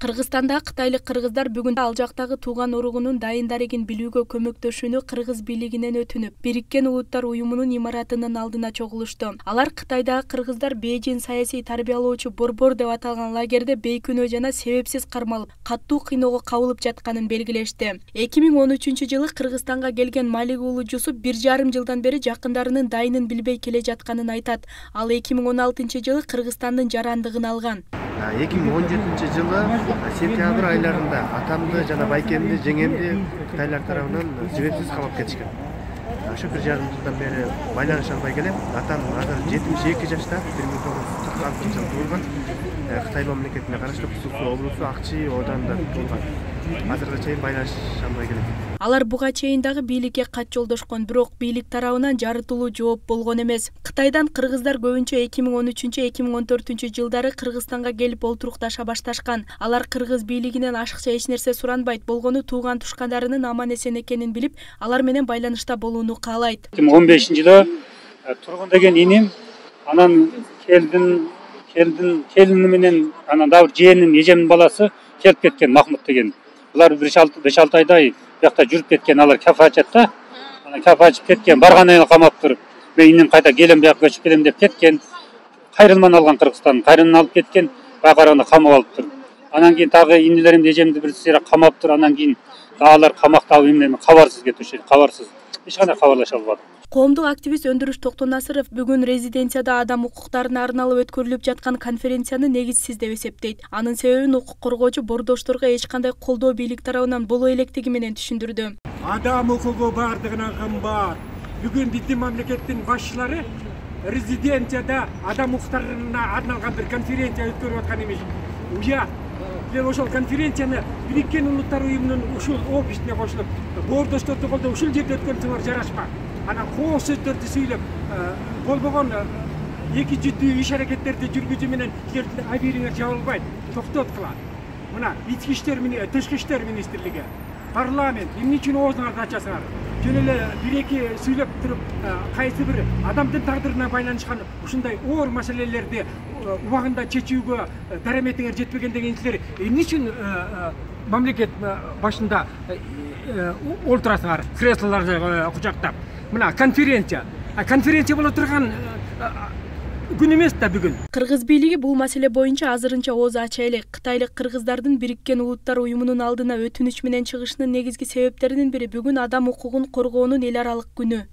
Кыргызстанда кытайлык кыргыздар бүгүн ал жактагы тууган уругунун дайын дарегин билүүгө көмөктөшүүнү кыргыз бийлигинен өтүнүп, Бириккен Улуттар уюмунун имаратынын алдына чогулушту. Алар Кытайдагы кыргыздар Бейжин саясий тарбиялоочу борбор деп аталган лагерде бейкүнөө жана себепсиз кармалып, каттуу кыйноого кабылып жатканын белгилешти. 2013-жылы Кыргызстанга келген Малик уулу Жусуп 1,5 жылдан бери жакындарынын дайынын билбей келе жатканын айтат. Ал 2016-жылы Кыргызстандын жарандыгын алган. 2017-жылы сентябрь айларында атамды жана байкемди, жеңемди кытайлар тарабынан себепсиз камап кетишкен. Ошо 1,5 жылдан бери байланыша албай келем. Атам азыр 72 жашта, 1946-жылы туулган. Кытай мамлекетине караштуу Сусу облусу Акчи оданында туулган. Азыркыга чейин байланыша албай келем. Алар буга чейин дагы бийликке кат жолдошкон, бирок бийлик тарабынан жарытылуу жооп болгон эмес. Кытайдан кыргыздар көбүнчө 2013-2014 жылдары Кыргызстанга келип олтурукташа башташкан. Алар кыргыз бийлигинен ашыкча эч нерсе суранбайт, болгону тууган тушкандарынын аман-эсен экенин билип, алар менен байланышта болууну каалайт. 2015-жылы Тургун деген иним, анан келини менен анан дагы бир жээнин, эжемдин баласы келип кеткен, Махмут деген. Булар 5-6 айдай бияқта жүрүп кеткен, алар кафе ачат. Анан кафе ачып кеткен, баргандан камаптыр. Мен инем кайта келем, бияка көчүп келем деп кеткен. Кайрылман алган Кыргызстан, кайрылман алып кеткен, бая караганда камап алыптыр. Анан кийин дагы инилерим, эжемди бир сыйра камаптыр. Анан кийин алар камакта эмне кабарсыз кетишет, кабарсыз. Эч кандай кабарлаша албадым. Коомдук активист Өндүрүш Токтонасыров бүгүн резиденцияда адам укуктарына арналып өткөрүлүп жаткан конференцияны негизсиз деп эсептейт. Анын себебин укук коргоочу бордошторго эч кандай колдоо бийлик тарабынан боло электиги менен түшүндүрдү. Адам укугу бардыгынан кымбат. Бүгүн биздин мамлекеттин башчылары резиденцияда адам укуктарына арналган бир конференция өткөрүп аткан эмес. Уя ошол конференцияны Бириккен Улуттар уюмунун ушул офисине кошулуп, бордошторду колдоп ушул жерде өткөрсөңөр жарашпак. Анан кооз сөздөрдү сүйлөп, болбогон эки жүздүү иш аракеттерди жүргүзүү менен силердин абийириңер жабылбайт, токтот кылат. Мына ички иштер менен тышкы иштер министрлиги, парламент эмне үчүн оозуңарды ачасыңар? Жөн эле бир-эки сүйлөп туруп, кайсы бир адамдын тагдырына байланышкан ушундай оор маселелерди убагында чечүүгө дараметиңер жетпеген деген силер эмне үчүн мамлекет башында олтурасыңар, креслолорду кучактап? Мына конференция боло турган күн эмес да бүгүн. Кыргыз бийлиги бул маселе боюнча азырынча ооз ача элек. Кытайлык кыргыздардын Бириккен Улуттар уюмунун алдына өтүнүч менен чыгышынын негизги себептеринин бири бүгүн адам укугун коргоонун эл аралык күнү.